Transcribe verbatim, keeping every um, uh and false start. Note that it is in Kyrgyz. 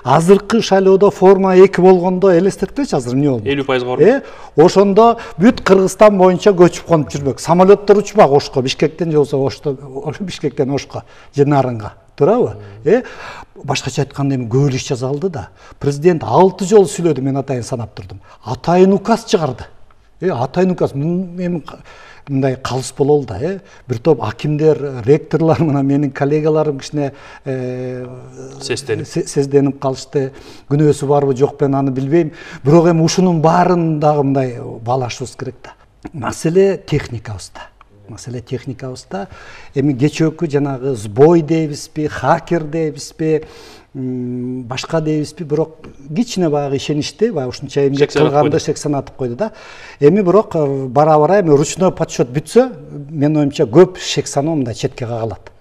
азыркы шайлоодо форма эки болгондо элестеткилечи азыр эмне болду? элүү пайызга барбы? Э, ошондо бүт Кыргызстан боюнча көчүп конуп жүрмөк. Самолеттор учмак Ошко, Бишкектен же болсо Ошто, Бишкектен Ошко же Нарынга. Туурабы? Э, башкача айтканда эми көп иш жасалды да. Президент алты жолу сүйлөдү, мен атайын санап турдум. Атайын указ чыгарды. Э, атайын указ эми мындай калыс бололу да, э. Бир топ акимдер, ректорлор мына менин коллегаларым кичине сезденип сезденип калышты. Күнөөсү барбы жокпу аны билбейм. Бирок эми ушунун баарын дагы мындай баалашыбыз керек да. Маселе техникабызда. Маселе техникабызда. Эми кечөөкү жанагы сбой дейбизби, хакер дейбизби, башка дейбизби, бирок кичине баягы ишеничти, баягы ушунча эмгек кылганды шек санатып койду да. Эми бирок бара-бара эми ручной подсчет бүтсө, менин оюмча көп шек саноо мындай четке кагылат.